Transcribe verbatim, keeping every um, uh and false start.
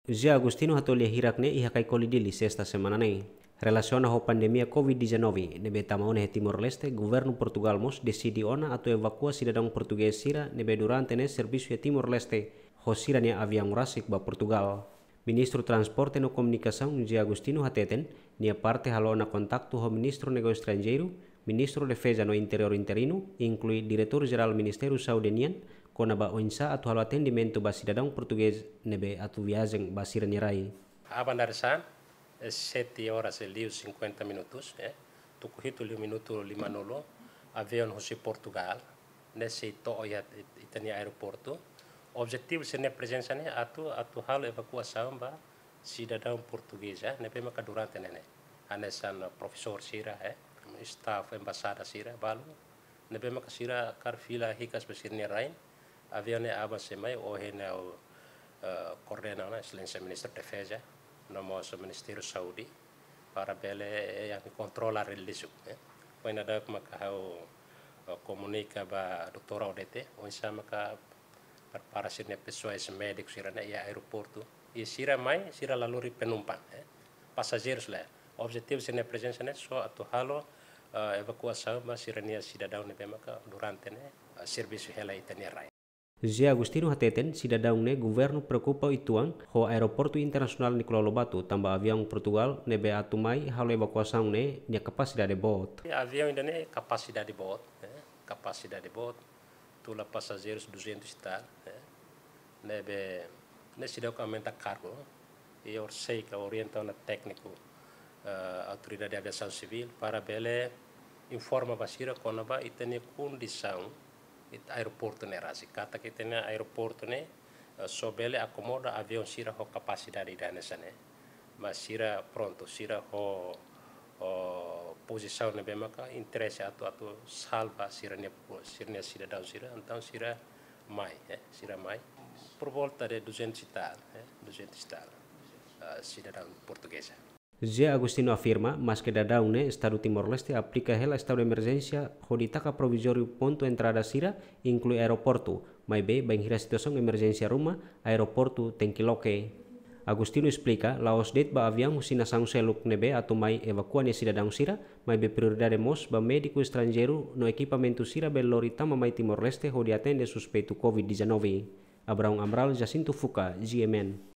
José Agostinho hato'o lia hirak ne'e iha Kaikoli, Dili, sesta semana ne'e. Relasiona ho pandemia covid dezanove ne'ebé tama ona iha Timor-Leste, governu Portugal mós deside ona atu evakua sidadaun portugés sira ne'ebé durante ne'e servisu iha Timor-Leste ho sira-nia aviaun rasik ba Portugal. Ministru Transporte no Komunikasaun José Agostinho hateten, nia parte halo ona kontaktu ho Ministru Negósiu Estranjeiru, Ministru Defeza no Interiór interinu, inklui Diretór Jerál Ministériu Saúde nian, kona-ba oinsá atu halo atendimentu ba sidadaun portugés ne'ebé atu viajen ba sira-nia rai. Aban dadeer-saan, eh, sete horas e liu cinquenta minutos, eh, tuku hitu liu minutu limanulu, aviaun husi Portugal ne'e sei to'o iha it-, ita-nia aeroportu. Objetivu sira-nia prezensa ne'e atu, atu halo evakuasaun ba sidadaun portugés, eh, ne'ebé maka durante ne'e ne'e. Hanesan profesór sira, eh, staf embaixada sira, balu. Ne'ebé maka sira kaer fila hikas ba sira-nia rain. Aviaun ne'e aban sei mai, ohin ne'e ha'u, eh, koordena ona Exelénsia Ministru Defeza, no mós Ministériu Saúde, para bele, eh, yang kontrola relísiu, eh. Foin daudauk maka ha'u, eh, komunika ba doutór Odete, oinsá maka prepara sira-nia pesoál médiku sira-ne'e iha aeroportu. I sira mai, sira la lori penumpang, eh. Pasajeirus lae. Objetivu sira-nia prezensa ne'e só atu halo, eh, evakuasaun ba sira-nia sidadaun ne'ebé maka durante ne'e, eh, servisu hela ita-nia rain. José Agostinho hateten, sidadaun ne'e governu preokupa uitoan ho Aeroportu Internasionál Nicolau Lobato, tanba aviaun Portugal ne'ebé atu mai halo evakuasaun ne'e nia kapasidade boot. Aviaun ida-ne'e kapasidade boot, eh, kapasidade boot, tula pasajeirus duzentos e tal, eh. Ne'ebé, ne'e seidauk aumenta kargu. I ha'u sei ka orienta ona tékniku, eh, Autoridade Aviasaun Sivíl para bele informa ba sira kona-ba ita-nia kondisaun, ita aeroportu ne'e rasik. Katak ita-nia aeroportu ne'e, eh, só bele akomoda aviaun sira ho kapasidade ida hanesan ne'e. Mas sira prontu, sira ho, ho pozisaun ne'ebé maka interese atu, atu salva sira-nia, sira-nia sidadaun sira, entaun sira mai, eh, sira mai. Por volta de duzentos e tal, eh, duzentos e tal, eh, sidadaun portugeza. José Agostinho afirma, maske daudaun ne'e Estadu Timor-Leste aplika hela estadu de emerjénsia hodi taka provizóriu pontu entrada sira, inklui aeroportu, maibé bainhira situasaun emerjénsia ruma, aeroportu tenke loke. Agostinho esplika, la'ós de'it ba aviaun husi nasaun seluk ne'ebé atu mai evakua nia sidadaun sira, maibé prioridade mós ba médiku estranjeiru no ekipamentu sira bele lori tama mai Timor-Leste hodi atende suspeitu covid dezanove. Abraão Amaral, Jacinto Fuca, G M N.